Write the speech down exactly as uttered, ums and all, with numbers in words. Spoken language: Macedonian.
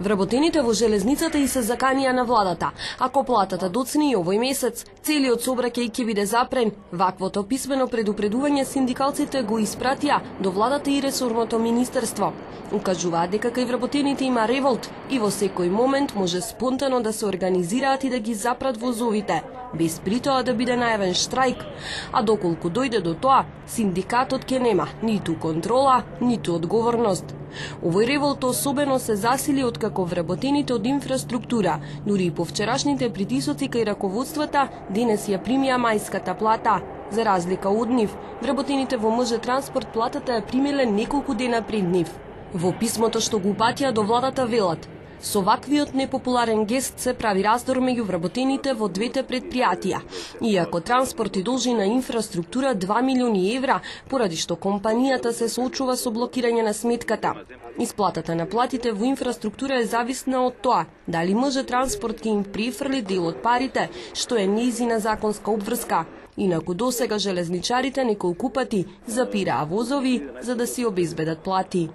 Вработените во железницата и се заканија на владата. Ако платата доцне и овој месец, целиот сообраќај ќе биде запрен. Ваквото писмено предупредување синдикалците го испратија до владата и ресорното министерство. Укажуваат дека кај вработените има револт и во секој момент може спонтано да се организираат и да ги запрат возовите, без при тоа да биде најавен штрајк. А доколку дојде до тоа, синдикатот ќе нема ниту контрола, ниту одговорност. Овој револт особено се засили откако вработените од инфраструктура, дури и по вчерашните притисоци кај раководствата, денес ја примија мајската плата. За разлика од нив, вработените во МЖ Транспорт платата ја примиле неколку дена пред нив. Во писмото што го упатија до владата велат: со ваквиот непопуларен гест се прави раздор меѓу вработените во двете предпријатија. Иако транспорт и должи на инфраструктура два милиони евра, поради што компанијата се соочува со блокирање на сметката. Исплатата на платите во инфраструктура е зависна од тоа дали МЖ Транспорт ќе им префрли дел од парите, што е нејзина законска обврска. Инаку досега железничарите неколку пати запираа возови за да си обезбедат плати.